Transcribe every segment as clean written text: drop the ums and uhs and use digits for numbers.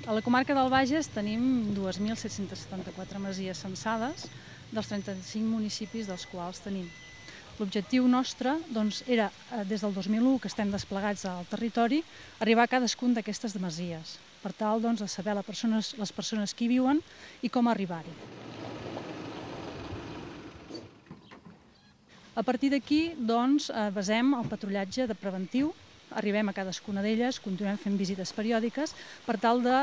A la comarca del Bages tenim 2.774 masies censades dels 35 municipis dels quals tenim. L'objectiu nostre era, des del 2001 que estem desplegats al territori, arribar a cadascun d'aquestes masies, per tal de saber les persones que hi viuen i com arribar-hi. A partir d'aquí basem el patrullatge preventiu, arribem a cadascuna d'elles, continuem fent visites periòdiques per tal de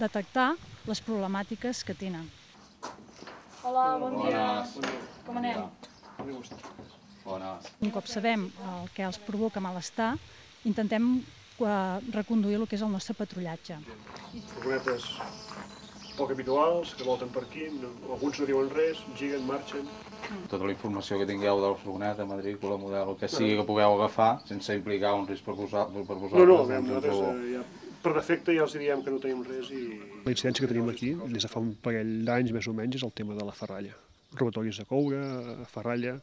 detectar les problemàtiques que tenen. Hola, bon dia. Com anem? Un cop sabem el que els provoca malestar, intentem reconduir el que és el nostre patrullatge. Furgonetes poc habituals, que volten per aquí, alguns no diuen res, giguen, marxen. Tota la informació que tingueu de la furgoneta, matrícula, model, el que sigui que pugueu agafar, sense implicar un risc per vosaltres. No, nosaltres per defecte ja els diem que no tenim res i... La incidència que tenim aquí, des de fa un parell d'anys més o menys, és el tema de la ferralla. Robatoris de coure, ferralla,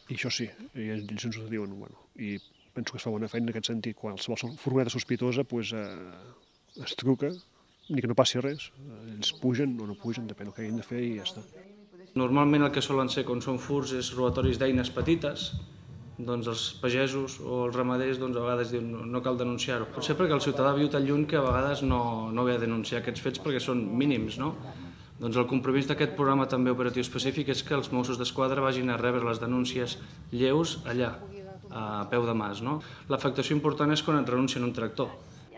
i això sí, i ells ens ho diuen, i penso que es fa bona feina en aquest sentit. Qualsevol furgoneta sospitosa es truca, ni que no passi res, ells pugen o no pugen, depèn del que hagin de fer i ja està. Normalment el que solen ser quan són furts és robatoris d'eines petites, doncs els pagesos o els ramaders a vegades diuen no cal denunciar-ho. Potser perquè el ciutadà viu tan lluny que a vegades no ve a denunciar aquests fets perquè són mínims, no? Doncs el compromís d'aquest programa també operatiu específic és que els Mossos d'Esquadra vagin a rebre les denúncies lleus allà, a peu de mas, no? L'afectació important és quan et renuncien un tractor.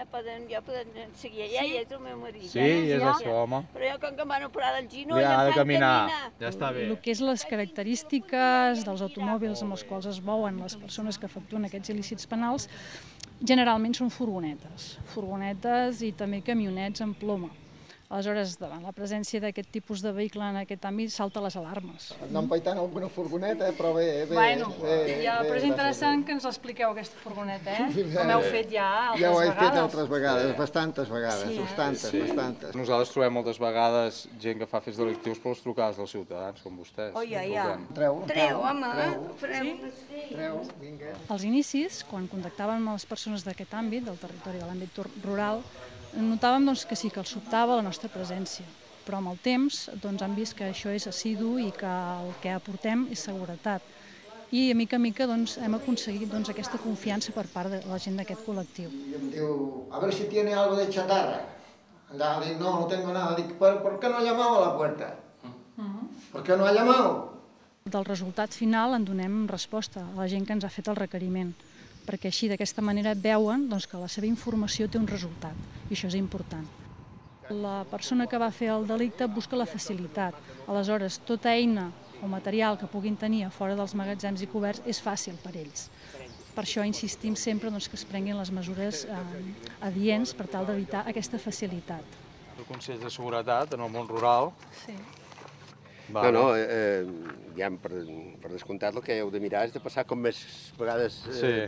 Ja poden seguir allà, ja és el meu marit. Sí, és això, home. Però jo com que em van operar del ginoll, Ja ha de em fan caminar, ja està bé. El que és les característiques dels automòbils amb els quals es mouen les persones que efectuen aquests il·lícits penals, generalment són furgonetes i també camionets amb ploma. Aleshores, davant la presència d'aquest tipus de vehicle en aquest àmbit, salta les alarmes. Anem paitant alguna furgoneta, però bé. Bueno, però és interessant que ens l'expliqueu, aquesta furgoneta, com heu fet ja altres vegades. Ja ho he fet altres vegades, bastantes vegades, bastantes. Nosaltres trobem moltes vegades gent que fa fets delictius per les trucades dels ciutadans, com vostès. Treu, home. Treu, vinga. Als inicis, quan contactàvem amb les persones d'aquest àmbit, del territori de l'àmbit rural, notàvem que sí, que els sobtava la nostra presència, però amb el temps han vist que això és assidu i que el que aportem és seguretat. I a mica hem aconseguit aquesta confiança per part de la gent d'aquest col·lectiu. I em diu, a ver si tiene algo de chatarra. Andava, dic, no tengo nada. Dic, ¿por qué no ha llamado a la puerta? ¿Por qué no ha llamado? Del resultat final en donem resposta a la gent que ens ha fet el requeriment, perquè així d'aquesta manera veuen que la seva informació té un resultat, i això és important. La persona que va fer el delicte busca la facilitat, aleshores tota eina o material que puguin tenir a fora dels magatzems i coberts és fàcil per ells. Per això insistim sempre que es prenguin les mesures adients per tal d'evitar aquesta facilitat. El Consell de Seguretat en el món rural. Sí. No, ja per descomptat el que heu de mirar és de passar com més vegades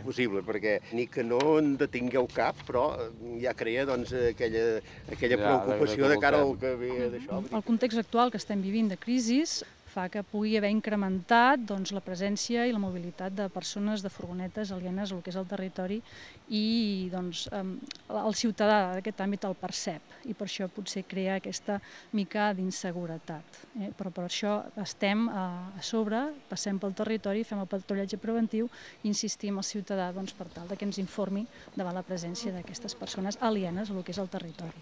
possible, perquè ni que no en detingueu cap, però ja crea aquella preocupació de cara al que ve d'això. El context actual que estem vivint de crisi fa que pugui haver incrementat la presència i la mobilitat de persones, de furgonetes alienes al que és el territori i el ciutadà d'aquest àmbit el percep i per això potser crea aquesta mica d'inseguretat. Però per això estem a sobre, passem pel territori, fem el patrullatge preventiu i insistim al ciutadà per tal que ens informi davant la presència d'aquestes persones alienes al que és el territori.